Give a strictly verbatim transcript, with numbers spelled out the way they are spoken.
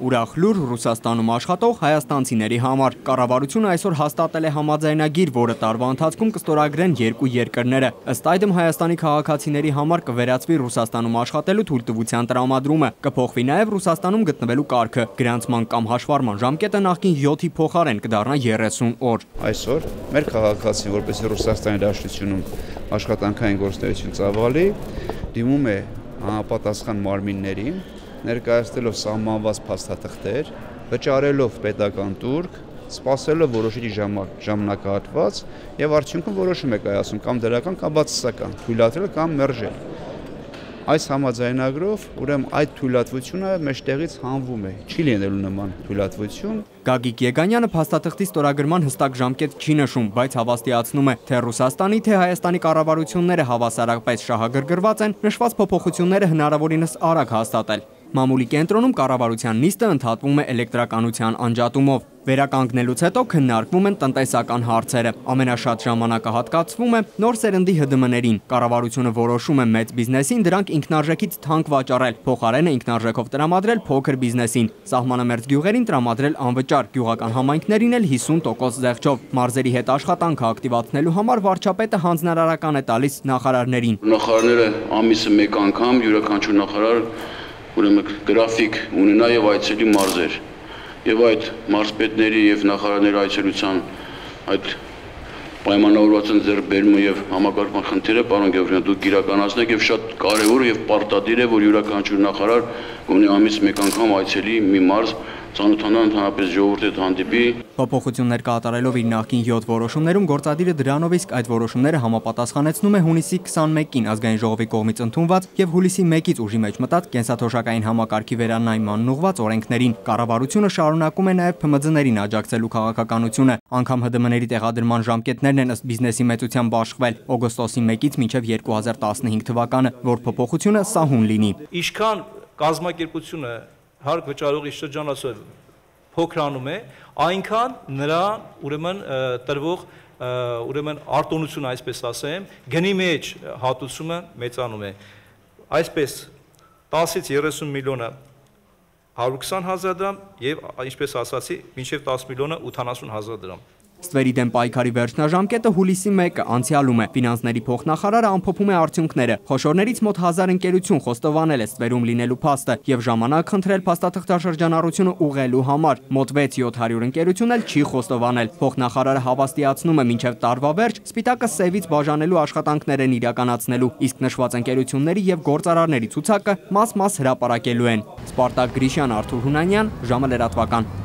ուրախ լուր Ռուսաստանում աշխատող հայաստանցիների համար։ Կառավարությունը այսօր հաստատել է համաձայնագիր, որը տարվա ընթացքում կստորագրեն երկու երկրները։ Ըստ այդմ Հայաստանի քաղաքացիների համար կվերացվի Ռուսաստանում աշխատելու թույլտվության տրամադրումը, կփոխվի նաև Ռուսաստանում գտնվելու կարգը, գրանցման կամ հաշվառման ժամկետը նախկին յոթի փոխարեն կդառնա երեսուն օր։ Այսօր մեր քաղաքացին, որպես Ռուսաստանի Դաշնությունում աշխատանքային գործունեություն ծավալի, դիմում է համապատասխան մարմիններին, ներկայացնելով սահմանված փաստաթղթեր, վճարելով պետական տուրք, սպասելով որոշիչ ժամանակահատված եւ արդյունքում որոշում է կայացում կամ դրական կամ բացասական, թույլատրել կամ մերժել։ Այս համաձայնագրով ուրեմն այդ թույլատվությունը մեջտեղից հանվում է, չի լինելու նման թույլատվություն։ Գագիկ Եգանյանը փաստաթղթի ստորագրման հստակ ժամկետ չի նշում, բայց հավաստիացնում է, թե Ռուսաստանի, թե Հայաստանի կառավարությունները հավասարապես շահագրգռված են նշված փոփոխությունները հնարավորինս արագ հաստատել։ Մամուլի կենտրոնում կառավարության նիստը ընդհատվում է էլեկտրականության անջատումով։ Վերականգնելուց հետո քննարկվում են տնտեսական հարցերը։ Ամենաշատ ժամանակը հատկացվում է նոր սերնդի Հ ԴՄ Ներին։ Կառավարությունը որոշում է մեծ բիզնեսին դրանք ինքնարժեքից թանկ վաճառել, փոխարենը ինքնարժեքով տրամադրել փոքր բիզնեսին, սահմանամերձ գյուղերին տրամադրել անվճար, գյուղական համայնքներին էլ հիսուն տոկոս զեղչով։ Մարզերի հետ աշխատանքը ակտիվացնելու համար վարչապետը հանձնարարական է տալիս նախարարներին։ Նախարարները ամիսը մեկ անգամ յուրաքանչյուր նախարար ուրեմն գրաֆիկ ունենա եւ այցելի մարզեր եւ այդ մարզպետների եւ նախարարների այցելության այդ պայմանավորվածության ձեռքբերումը եւ համակարգման խնդիրը, պարոն Գևորգյան, դուք իրականացնեք եւ շատ կարեւոր եւ պարտադիր է, որ յուրաքանչյուր նախարար գոնե ամիս մեկ անգամ այցելի մի մարզ ծանոթանա ընդհանրապես ժողովրդի հետ հանդիպի։ Փոփոխություններ կատարելով իր նախկին յոթ որոշումներում գործադիրը դրանով իսկ այդ որոշումները համապատասխանեցնում է հունիսի քսանմեկին ազգային ժողովի կողմից ընդունված եւ հուլիսի մեկից ուժի մեջ մտած կենսաթոշակային համակարգի վերանայմանն ուղղված օրենքներին։ Կառավարությունը շարունակում է նաեւ Փ Մ Ձ ներին աջակցելու քաղաքականությունը, անգամ Հ ԴՄ Ների տեղադրման ժամկետներն են ըստ բիզնեսի մեծությամբ աշխվել օգոստոսի մեկից մինչեւ երկու հազար տասնհինգ թվականը, որ փոփոխությունը սահուն լինի։ Ինչքան կազմակերպությունը հարկ վճարողի շրջանացով փոքրանում է, այնքան նրան ուրեմն տրվող ուրեմն արտոնությունը, այսպես ասեմ, գնի մեջ հատուցումը մեծանում է։ Այսպես տասից երեսուն միլիոնը հարյուր քսան հազար դրամ եւ ինչպես ասացի, մինչեւ տասը միլիոնը ութանասուն հազար դրամ։ Ստվերի դեմ պայքարի վերջնաժամկետը հուլիսի մեկը անցյալում է։ Ֆինանսների փոխնախարարը ամփոփում է արդյունքները։ Խոշորներից մոտ հազար ընկերություն խոստովանել է ստվերում լինելու փաստը եւ ժամանակ խնդրել փաստաթղթաշրջանառությունը ուղղելու համար։ Մոտ վեց-յոթ հարյուր ընկերություն էլ չի խոստովանել։ Փոխնախարարը հավաստիացնում է մինչեւ տարվա վերջ սպիտակը սևից բաժանելու աշխատանքներ են իրականացնելու, իսկ նշված ընկերությունների եւ գործարարների ցուցակը մաս-մաս հրապարակելու են։ Սպարտակ Գրիշյան, Արթուր Հունանյան, ժամը լրատվական։